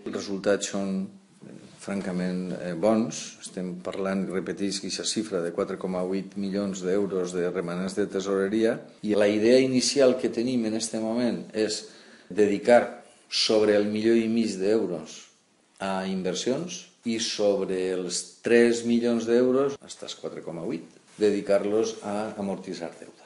Els resultats són francament bons. Estem parlant, repetisc, aquesta xifra de 4,8 milions d'euros de remanents de tesoreria, i la idea inicial que tenim en aquest moment és dedicar sobre el 1,5 milió d'euros a inversions i sobre els 3 milions d'euros, fins als 4,8, dedicar-los a amortitzar deute.